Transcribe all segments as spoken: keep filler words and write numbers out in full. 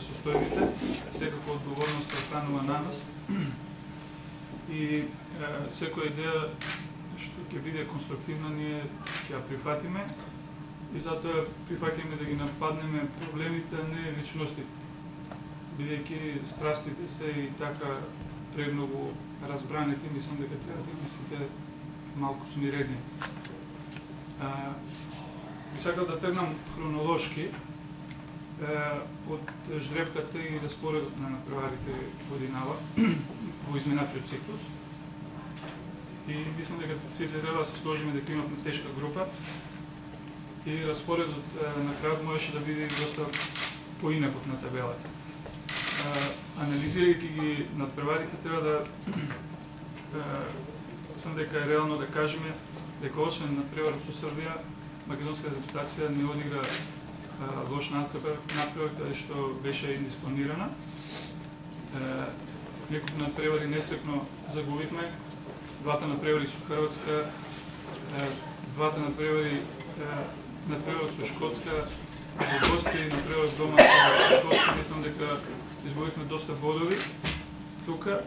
состојбите, секако одговорноста останува на нас и секоја идеја што ќе биде конструктивна ние ќе ја прифатиме и затоа прифаќаме да ги нападнеме проблемите, а не личностите. Бидејќи страстите се и така премногу разбранети, мислам дека треба да мислите малку смирени. Би сакал да тргнам хронолошки од жребката и распоредот на натпреварите годинава во изминатиот циклус. И мислам дека сите треба да се сложиме дека имавме тешка група и распоредот на крајот можеше да биде доста поинаков на табелата. Анализирајќи ги натпреварите треба да мислам дека е реално да кажеме дека освен натпреварот со Србија, македонска репрезентација не одигра лош натпревар, каде што беше индиспланирана. Неколку натпревари несрекно загубивме, двата натпревари со Хрватска, двата натпревари натпреварот со Шкотска, во гости, натпреварот дома со Шкотска, мислам дека изгубивме доста бодови тука,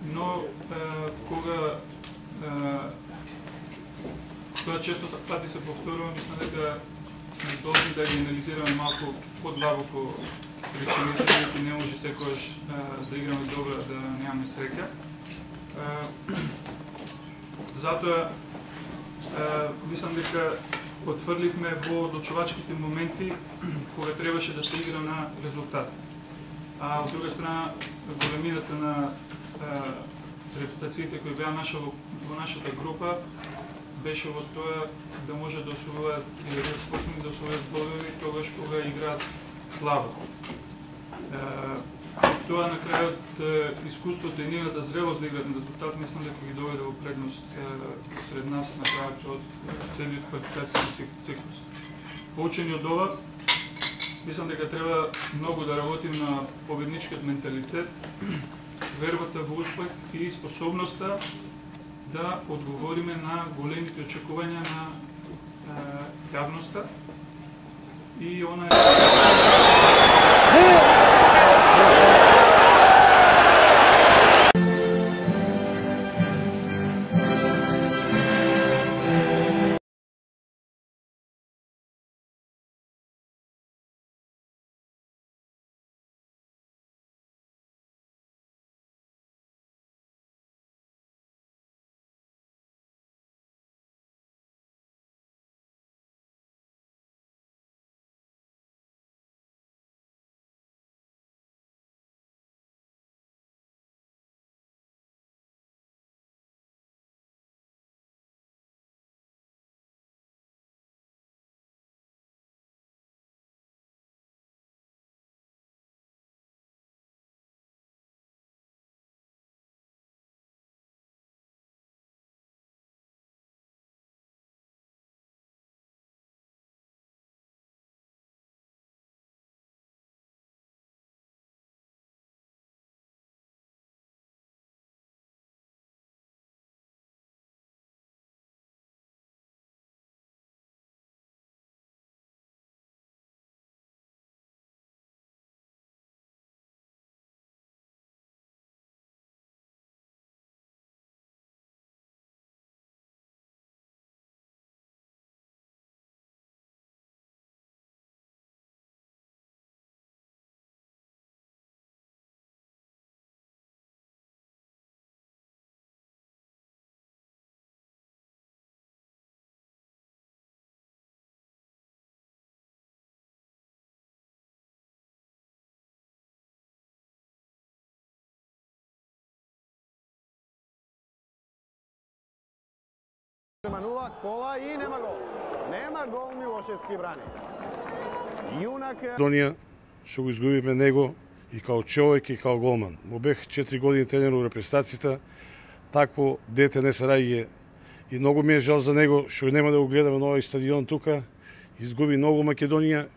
но кога тоа често пати се повторува, мислам дека сме должни да ги анализираме малку подлабоко причините, бидејќи не може секогаш да играме добро, да немаме среќа. Затоа мислам дека отфрливме во одлучувачките моменти кога требаше да се игра на резултат. А од друга страна, големината на репрезентациите кои беа наша во нашата група беше во тоа да може да освојуваат или да способни да освојат бодови тогаш кога играат слабо. Тоа на крајот искуството и нивната зрелост да играат на резултат, мислам дека ги доведе во предност пред нас на крајот од целиот квалификацијски циклус. Поучени од ова, мислам дека треба многу да работим на победничкиот менталитет, вербата во успех и способноста да одговориме на големите очекувања на јавноста и она нула, кола и нема гол. Нема гол, Милошевски брани. Јунак Македонија што го изгубивме него и као човек и као голман. Му бех четири години тренер во репрезентацијата, такво дете не се раѓа и многу ми е жал за него што нема да го гледаме на овој стадион тука. Изгуби многу Македонија.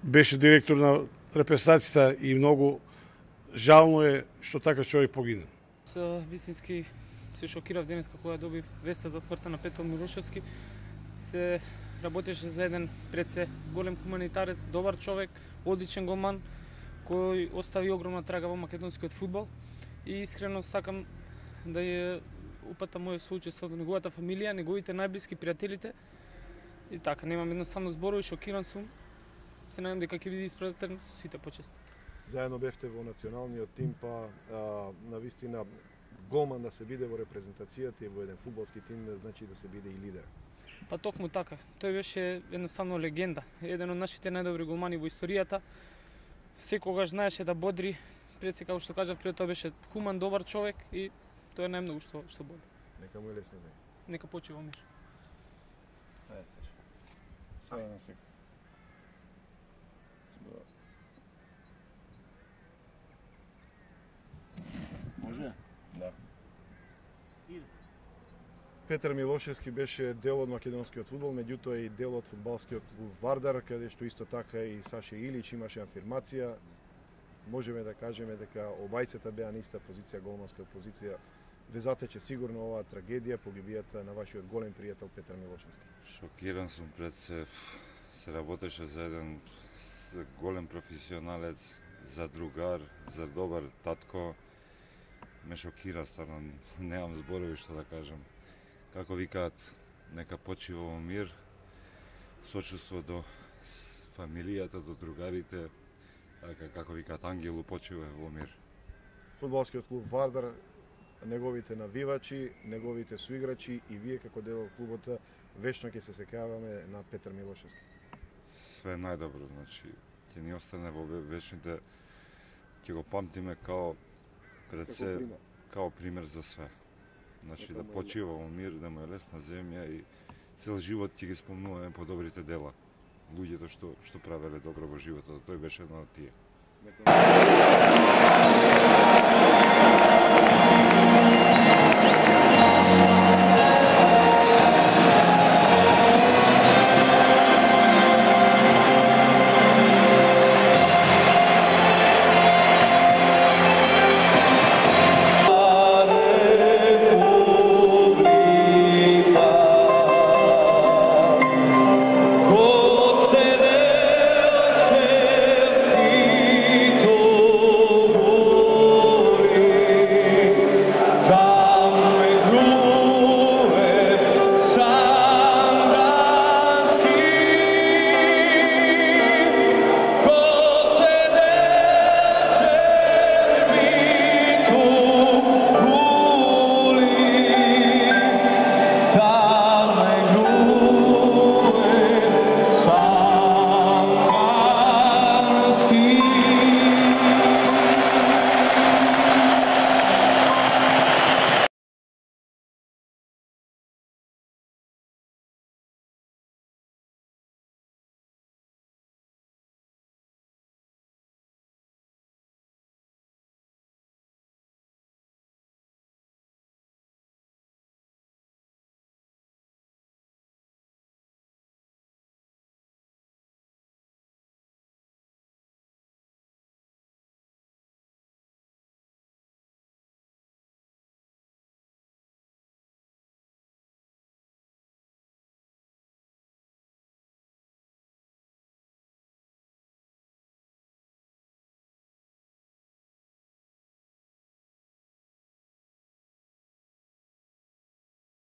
Беше директор на репрезентацијата и многу жално е што така човек погина. Вистински се шокирав денеска кога добив веста за смртта на Петел Милошевски. Се работеше за еден пред се голем хуманитарец, добар човек, одличен голман, кој остави огромна трага во македонскиот фудбал и искрено сакам да ја упатам моје соучество до неговата фамилија, неговите најблиски пријателите. И така, немам едноставно зборови, шокиран сум. Се надевам дека ќе биде испратен со сите почести. Заедно бевте во националниот тим, па а, на вистина голман да се биде во репрезентацијата и во еден фудбалски тим, значи да се биде и лидер. Па токму така. Тој беше едноставно легенда. Еден од нашите најдобри голмани во историјата. Секогаш знаеше да бодри, пред се како што кажав, пред тоа беше хуман, добар човек и тоа е најмногу што што боли. Нека му е лесна земја. Нека почива мир. Ајде се. Сега на секој. Може? Да. Иде. Петар Милошевски беше дел од македонскиот фудбал, меѓутоа и дел од фудбалскиот клуб Вардар, каде што исто така и Саше Илич имаше афирмација. Можеме да кажеме дека обајцата беа на иста позиција, голманска позиција. Ве затече сигурно оваа трагедија, погибијата на вашиот голем пријател Петар Милошевски. Шокиран сум пред се. Се работеше за еден голем професионалец, за другар, за добар татко. Ме шокира, стварно, немам зборови што да кажам. Како викаат, нека почива во мир, сочувство до фамилијата, до другарите, така како викаат, ангелу почива во мир. Фудбалскиот клуб Вардар, неговите навивачи, неговите суиграчи и вие како дел од клубот вечно ќе се сеќаваме на Петар Милошевски. Све најдобро, значи, ќе ни остане во вечните, ќе го памтиме као пред се, као пример за све. Значи да почива во мир, да му е лесна земја и цел живот ќе ги спомнуваме по добрите дела. Луѓето што што правеле добро во животот, тој беше едно од тие.